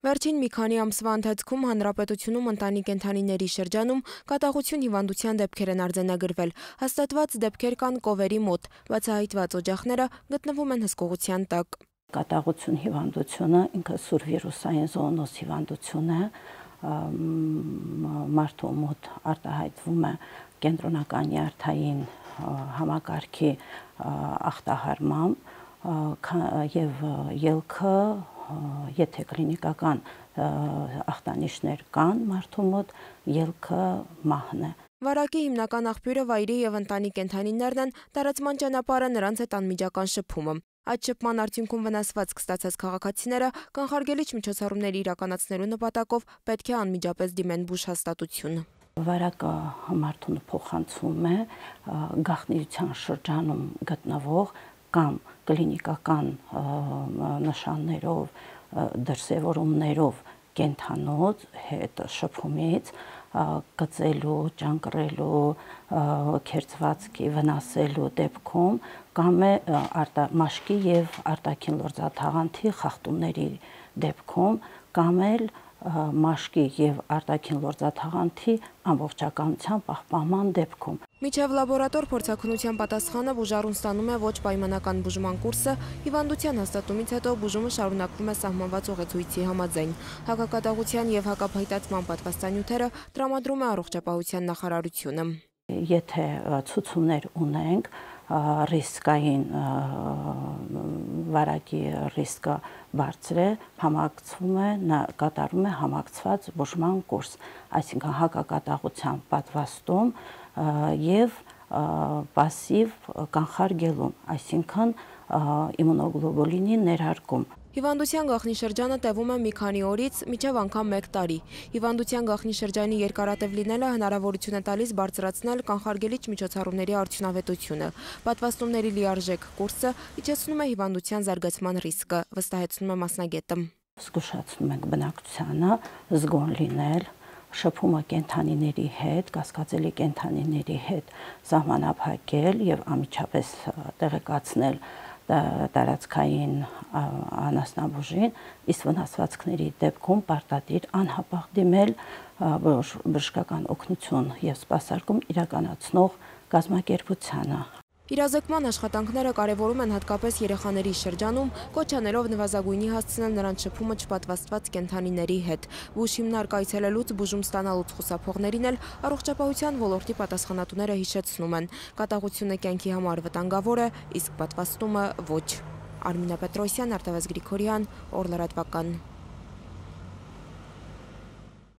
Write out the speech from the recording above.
Վերջին մի քանի ամսվա ընթացքում հանրապետությունում ընտանի կենդանիների շրջանում կատաղություն հիվանդության դեպքեր են արձանագրվել։ Հաստատված դեպքեր կան կովերի մոտ, բացահայտված օջախները գտնվում են հսկողության տակ։ Կատաղություն հիվանդությունը ինքը սուր վիրուսային զոոնոզ հիվանդություն է, մարդու մոտ արտահայտվում է կենտրոնական նյարդային համակարգի ախտահարմամբ եւ ելքը, եթե կլինիկական ախտանիշներ կան մարդու մոտ, ելքը մահն է։ Վարակի հիմնական աղբյուրը վայրի եւ ընտանի կենդանիներն են, տարածման ճանապարհը նրանց հետ անմիջական շփումը։ Այդ շփման արդյունքում վնասվածք ստացած քաղաքացիները կանխարգելիչ միջոցառումներ իրականացնելու նպատակով պետք է անմիջապես դիմեն բուժհաստատություն։ Վարակը մարդուն փոխանցում է գաղտնիության շրջանում գտնվող կամ կլինիկական նշաններով, դրսևորումներով կենթանոց հետ շփումից, կծելու, ճանկռելու, քերծվածքի վնասելու դեպքում կամ է մաշկի եւ արտաքին լորձաթաղանթի խախտումների դեպքում կամ էլ մաշկի եւ արտաքին լորձաթաղանթի ամբողջականության պահպանման դեպքում։ Միջև լաբորատոր փորձաքննության պատասխանը բուժառուն ստանում է ոչ պայմանական բուժման կուրսը, հիվանդության հաստատումից հետո բուժումը շարունակվում է սահմանված ուղեցույցի համաձայն։ Հակակատաղության եւ հակափայտացման պատվաստանյութերը տրամադրում է առողջապահության նախարարությունը։ Եթե ցուցումներ ունենք, ռիսկային վարակի ռիսկը բարձր է, համակցվում է, կատարում է համակցված բուժման կուրս, այսինքն հակակատաղության պատվաստում եւ պասիվ կանխարգելում, այսինքն իմունոգլոբուլինի ներարկում։ Հիվանդության գաղտնի տևում է մի քանի օրից մինչև անգամ 1 տարի։ Հիվանդության գաղտնի շրջանի երկարատև լինելը հնարավորություն է տալիս բարձրացնել կանխարգելիչ միջոցառումների արդյունավետությունը։ Պատվաստումների լիարժեք կուրսը իջեցնում է հիվանդության զարգացման ռիսկը, վստահեցնում է մասնագետը։ Զգուշացնում ենք բնակչությանը զգոն լինել, շփումը կենդանիների հետ, կասկածելի կենդանիների հետ սահմանափակել եւ անմիջապես տեղեկացնել տարածքային անասնաբուժին, իսկ վնասվածքների դեպքում պարտադիր անհապաղ դիմել բժշկական օգնություն եւ սպասարկում իրականացնող կազմակերպությանը։ Իրազեկման աշխատանքները կարևորում են հատկապես երեխաների շրջանում, կոչ անելով նվազագույնի հասցնել նրանց շփումը չպատվաստված կենդանիների հետ։ Բուժ հիմնարկ այցելելուց բուժում ստանալուց խուսափողներին էլ առողջապահության ոլորտի պատասխանատուները հիշեցնում են։ Կատաղությունը կյանքի համար վտանգավոր է, իսկ պատվաստումը ոչ։ Արմինե Պետրոսյան, Արտավազդ Գրիգորյան, Օր լրատվական։